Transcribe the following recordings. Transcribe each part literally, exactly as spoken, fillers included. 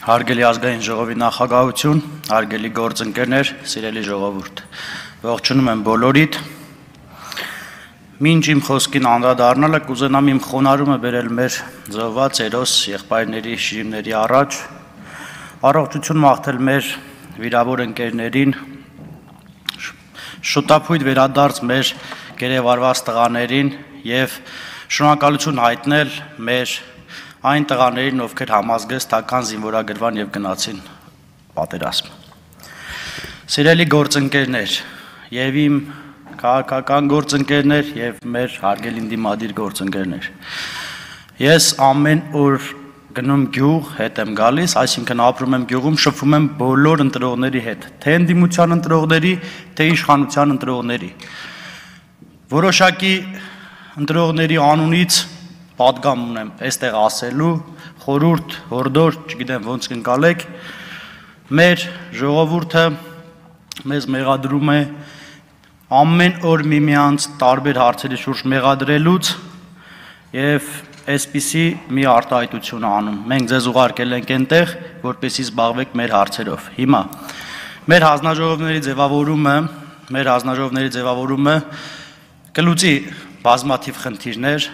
Հարգելի ազգային ժողովի նախագահություն, հարգելի գործընկերներ, սիրելի ժողովուրդ, ողջունում եմ բոլորիդ։ Մինչ իմ խոսքին անդրադառնալը կուզենամ իմ խոնարհումը բերել մեր զոհված հերոս եղբայրների շիրիմների առաջ, առողջություն մաղթել մեր վիրավոր ընկերներին, շուտափույթ վերադարձ մեր գերեվարված տղաներին եւ շնորհակալություն հայտնել մեր այն տղաներին, ովքեր համազգեստական զինվորագրվան եւ գնացին պատերազմ։ Սիրելի գործընկերներ, եւ իմ քաղաքական գործընկերներ եւ մեր հարգելի դիմադիր գործընկերներ։ Ես ամեն օր գնում գյուղ, հետ եմ գալիս, այսինքն ապրում եմ գյուղում, շփվում եմ բոլոր ընտրողների հետ, թե ընդդիմության ընտրողների, թե իշխանության ընտրողների։ Որոշակի ընտրողների անունից պատգամ ունեմ այստեղ ասելու, խորհուրդ, հորդոր, չգիտեմ ոնց կընկալեք, մեր ժողովուրդը մեզ մեղադրում է ամեն օր միմյանց տարբեր հարցերի շուրջ մեղադրելուց եւ այսպիսի մի արտահայտություն անում։ Մենք ձեզ ուղարկել ենք այնտեղ, որպեսզի զբաղվեք մեր հարցերով։ Հիմա մեր հանձնաժողովների ձևավորումը, մեր հանձնաժողովների ձևավորումը կլուծի բազմաթիվ խնդիրներ։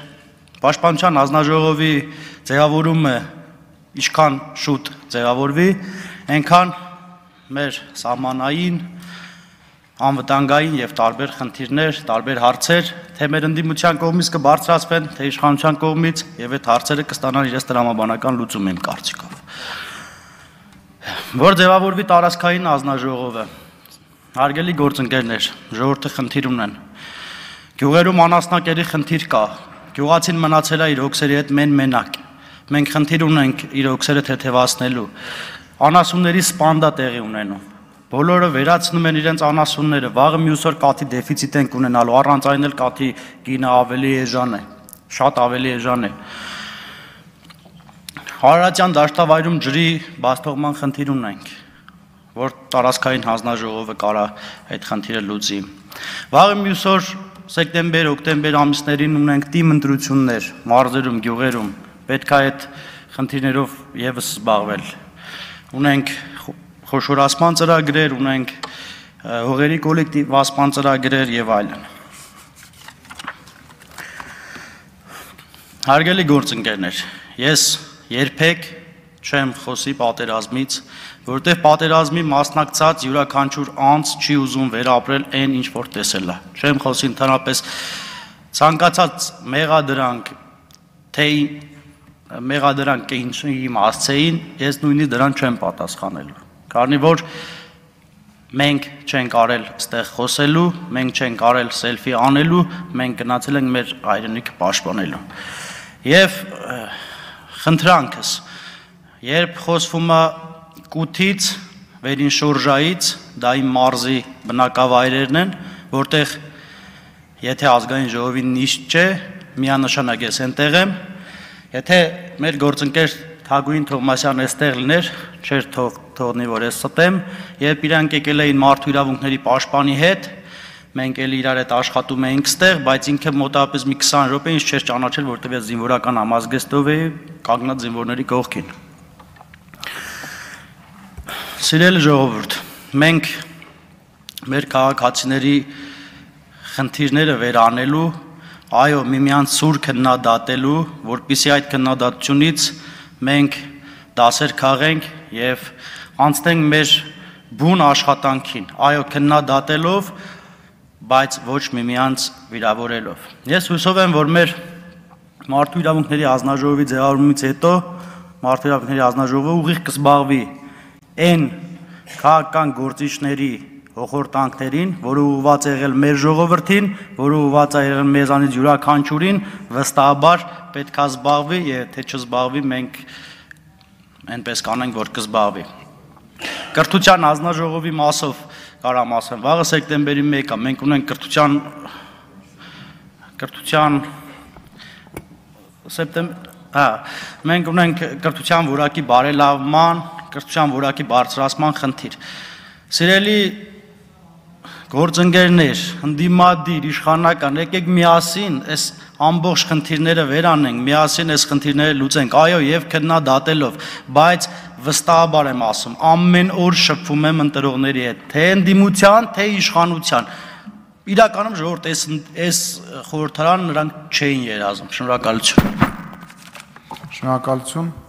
Պաշտպանության հանձնաժողովի ձևավորումը ինչքան շուտ ձևավորվի, այնքան մեր սահմանային, անվտանգային եւ տարբեր խնդիրներ, տարբեր հարցեր, թե մեր ընդդիմության կողմից կբարձրացվեն, թե իշխանության կողմից եւ այդ հարցերը կստանան իրենց տրամաբանական լուծում իմ կարծիքով։ Որ ձևավորվի տարածքային հանձնաժողովը, հարգելի գործընկերներ, ժողովուրդը խնդիր ունեն։ Գյուղերում անասնակերի խնդիր կա։ Գյուղացին մնացել է իր հոգսերի հետ մեն-մենակ։ Մենք խնդիր ունենք իր հոգսերը թեթևացնելու։ Անասունների սպանդա տեղի ունենում։ Բոլորը վերացնում են իրենց անասունները, վաղը մյուս օր կաթի դեֆիցիտ են ունենալու, առանց այն էլ կաթի գինը ավելի էժան է, շատ ավելի էժան է։ Արարատյան դաշտավայրում ջրի բացթողման խնդիր ունենք, որ տարածքային հանձնաժողովը կարա այդ խնդիրը լուծի։ Վաղը մյուս օր սեպտեմբեր, օկտեմբեր ամիսներին ունենք թիմ ընտրություններ մարզերում, գյուղերում, պետք է այդ խնդիրներով եւս զբաղվել։ Ունենք խոշորացման ծրագրեր, ունենք հողերի կոլեկտիվացման ծրագրեր եւ այլն։ Հարգելի գործընկերներ, ես երբեք չեմ խոսի պատերազմից, որտեղ պատերազմի մասնակցած յուրաքանչյուր անձ չի ուզում վերապրել այն, ինչ որ տեսել է։ Չեմ խոսի ընդհանրապես ցանկացած մեղադրանք, թե մեղադրանք ինչի իմացեին, ես նույնիսկ դրան չեմ պատասխանելու։ Քանի որ մենք չենք արել այստեղ խոսելու, մենք չենք արել սելֆի անելու, մենք գնացել ենք մեր հայրենիքը պաշտպանելու։ Եվ խնդրանքս, երբ խոսվում է կութից, վերին շորժայից, դա իմ մարզի բնակավայրերն են, որտեղ եթե ազգային ժողովի նիստ չէ, միանշանակ ես այնտեղ եմ, եթե մեր գործընկեր Թագուհին Թովմասյանը այստեղ լիներ, չէր թողնի, որ ես ստեմ, երբ իրանք եկել էին մարդու իրավունքների պաշտպանի հետ, մենք էլ իրար հետ աշխատում էինք ստեղ, բայց ինքը մոտավորապես մի քսան րոպե ինձ չէր ճանաչել, որտեղ ես զինվորական համազգեստով էի կանգնած զինվորների կողքին։ Սիրելի ժողովուրդ, մենք մեր քաղաքացիների խնդիրները վերանելու, այո, միմյանց սուր քննադատելու, որպեսզի այդ քննադատությունից մենք դասեր քաղենք եւ անցնենք մեր բուն աշխատանքին, այո, քննադատելով, բայց ոչ միմյանց վիրավորելով։ Ես հուսով եմ, որ մեր մարդու իրավունքների հանձնաժողովի ձևավորումից հետո մարդու իրավունքների հանձնաժողովը ուղիղ կզբաղվի այն քաղաքական գործիչների հոխորտանքներին, որը ուղղված է եղել մեր ժողովրդին, որը ուղղված է եղել մեզանից յուրաքանչյուրին, վստահաբար պետք է զբաղվի, եւ թե չզբաղվի, մենք այնպես կանենք, որ կզբաղվի։ Կրթության հանձնաժողովի մասով կարամ ասեմ, վաղը սեպտեմբերի մեկը մենք ունենք կրթության կրթության սեպտեմբեր, հա, մենք ունենք կրթության որակի բարելավման, կրթության որակի բարձրացման խնդիր։ Սիրելի Գործընկերներ, ընդդիմադիր, իշխանական, եկեք միասին այս ամբողջ խնդիրները վերանենք, միասին այս խնդիրները լուծենք, այո, եւ քննադատելով, բայց վստահաբար եմ ասում, ամեն օր շփվում եմ ընտրողների հետ, թե ընդդիմության, թե իշխանության։ Իրականում ժողովուրդ այս այս խորհրդարան նրանք չէին երազում։ Շնորհակալություն։ Շնորհակալություն։